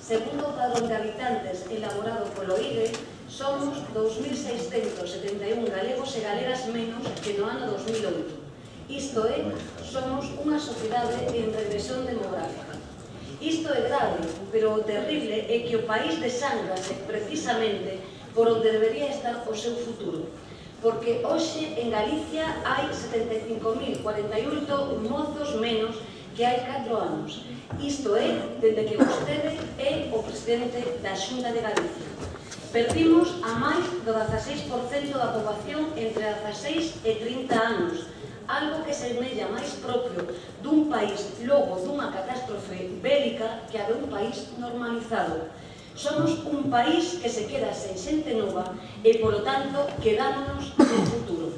Segundo o padrón de habitantes elaborado polo IGE, somos 2.671 galegos e galegas menos que no ano 2008. Isto é, somos unha sociedade en regresión demográfica. Isto é grave, pero o terrible é que o país desangrase precisamente por onde debería estar o seu futuro. Porque hoxe en Galicia hai 75.048 mozos menos que hai 4 anos. Isto é, dende que vostede é o presidente da Xunta de Galicia. Perdimos a máis do 16% da poboación entre 16 e 30 anos, algo que se semella máis propio dun país logo dunha catástrofe bélica que a de un país normalizado. Somos un país que se queda sen xente nova e, polo tanto, quedámonos no futuro.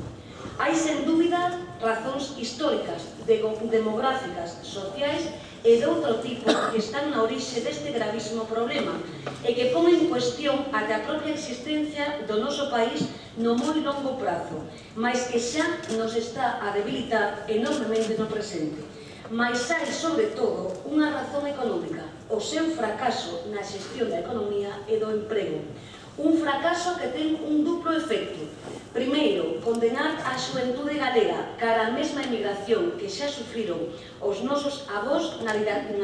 Hai, sen dúbida, razóns históricas, demográficas, sociais e de outro tipo que están na orixe deste gravísimo problema e que pon en cuestión até a propia existencia do noso país no moi longo prazo, mais que xa nos está a debilitar enormemente no presente. Mais hai, sobre todo, unha razón económica, o seu fracaso na xestión da economía e do emprego. Un fracaso que ten un duplo efecto. Primeiro, condenar a xuventude galega cara a mesma emigración que xa sufriron os nosos avós na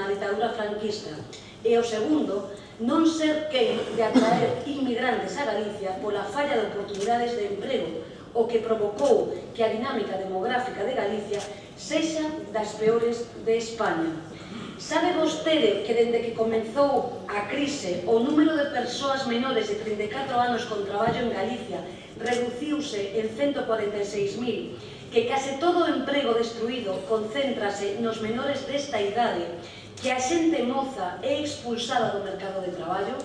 ditadura franquista. E o segundo, non ser quen de atraer inmigrantes a Galicia pola falla de oportunidades de emprego, o que provocou que a dinámica demográfica de Galicia sexa das peores de España. Sabe vostede que dende que comezou a crise o número de persoas menores de 34 anos con traballo en Galicia reduciuse en 146.000, que case todo o emprego destruído concéntrase nos menores desta idade, que a xente moza é expulsada do mercado de traballo?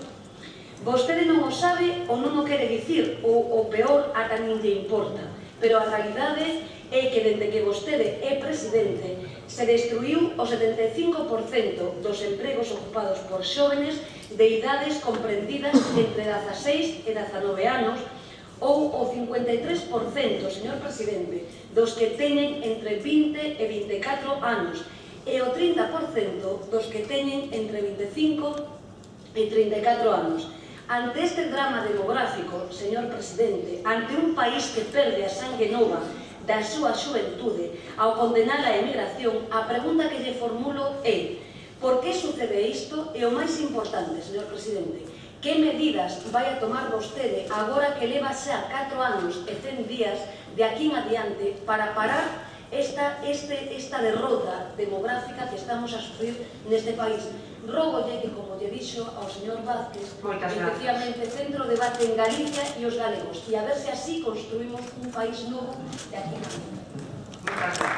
Vostede non o sabe ou non o quere dicir, ou o peor, ata nin lle importa, pero a realidade é que dende que vostede é presidente se destruiu o 75% dos empregos ocupados por xóvenes de idades comprendidas entre 16 e 19 anos ou o 53%, señor presidente, dos que teñen entre 20 e 24 anos e o 30% dos que teñen entre 25 e 34 anos. Ante este drama demográfico, señor presidente, ante un país que perde a sangue nova da súa xuventude ao condenar a emigración, a pregunta que lle formulo é: por que sucede isto? E o máis importante, señor presidente, que medidas vai a tomar vostede agora que leva xa 4 anos e 100 días de aquí en adiante para parar esta derrota demográfica que estamos a sufrir neste país? Rógolle que, como lle dixo ao señor Vázquez, efectivamente centro o debate en Galicia e os galegos, e a ver se así construímos un país novo de aquí en adiante.